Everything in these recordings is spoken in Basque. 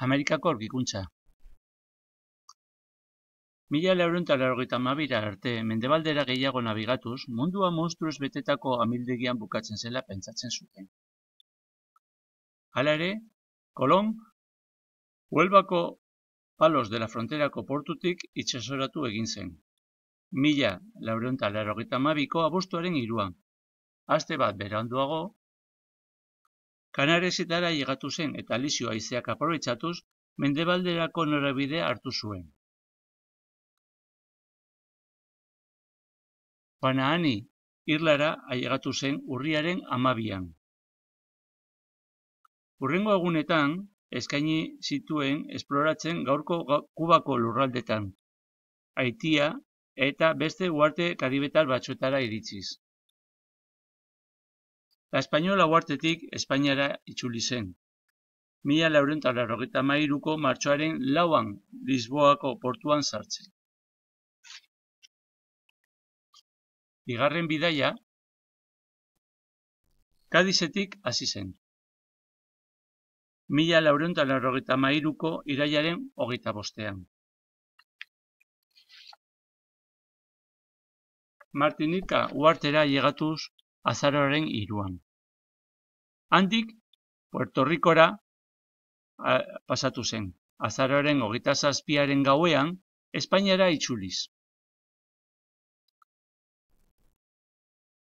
Amerikako aurkikuntza. 1492 arte, mendebaldera gehiago nabigatuz, mundua monstruoz betetako amildegian bukatzen zela pentsatzen zuten. Hala ere, Kolon, Huelbako Palos de la Fronterako portutik itsasoratu egin zen. 1492ko abuztuaren 3. Aste bat beranduago, Kanaresetara llegatu zen eta Alizio haizeak aprobetxatuz, mendebalderako norabidea hartu zuen. Banaani irlara ailegatu zen urriaren 12. Hurrengo egunetan, eskaini zituen esploratzen gaurko Kubako lurraldetan, Haitia eta beste uharte karibetar batzuetara iritsiz. La Espainola uhartetik Espainiara itzuli zen. 1493ko martxoaren 4 Lisboako portuan sartzen. Bigarren bidaia, Kadizetik hasi zen. 1493ko irailaren 25. Martinika uhartera llegatuz azaroaren 3. Handik, Puerto Ricora pasatu zen. Azaroaren 27. gauean, Espainiara itzuliz.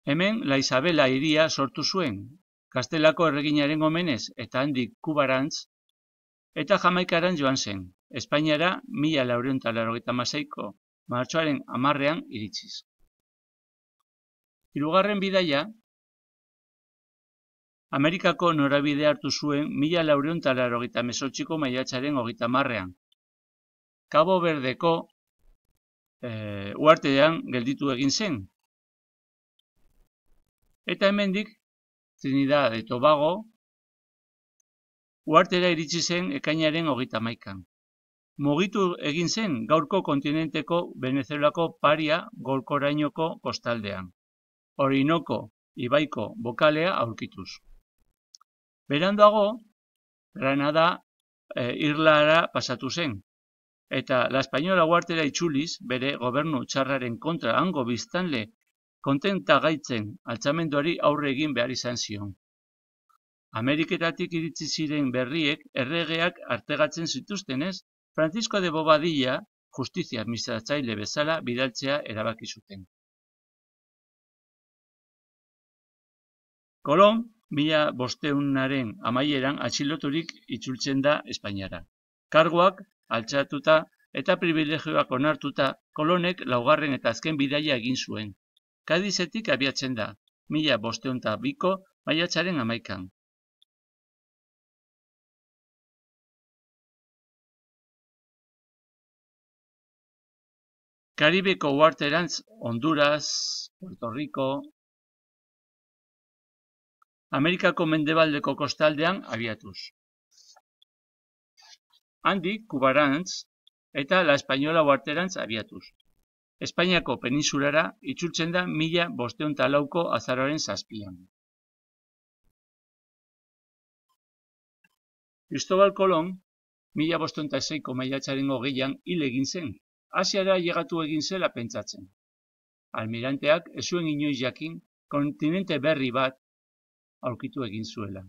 Hemen La Isabela hiria sortu zuen, Kastelako erreginaren omenez eta handik Kubarantz, eta Jamaikarantz joan zen, Espainiara 1496ko martxoaren 10. iritsiz. Hirugarren bidaia, Amerikako norabide hartu zuen 1498ko maiatzaren 30. Cabo Verdeko uhartean gelditu egin zen. Eta hemendik, Trinidad eta Tobago, uhartera iritsi zen ekainaren 31. Mugitu egin zen gaurko kontinenteko Venezuelako Paria golkorainoko kostaldean. Orinoco ibaiko bokalea aurkituz. Beranduago, Granada irlara pasatu zen, eta La Espainola uhartera itzuliz bere gobernu txarraren kontra hango biztanle kontenta gaitzen altzamenduari aurre egin behar izan zion. Ameriketatik iritsi ziren berriek erregeak artegatzen zituztenez, Francisco de Bobadilla justizia administratzaile bezala bidaltzea erabaki zuten. Kolon, 1500aren amaieran atxiloturik itzultzen da Espainiara. Karguak altxatuta eta privilegioak onartuta, Kolonek 4. eta azken bidaia egin zuen. Kadizetik abiatzen da, 1502ko maiatzaren 11. Karibeko uharterantz Honduras, Puerto Rico, Amerikako mendebaldeko kostaldean abiatuz. Handik Kubarantz eta La Espainola uharterantz abiatuz. Espainiako peninsulara itzultzen da 1504ko azaroaren 7. Cristobal Kolon 1506ko maiatzaren 20an hil egin zen, Asiara llegatu egin zela pentsatzen. Almiranteak ez zuen inoiz jakin kontinente berri bat aurkitu egin zuela,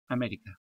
Amerika.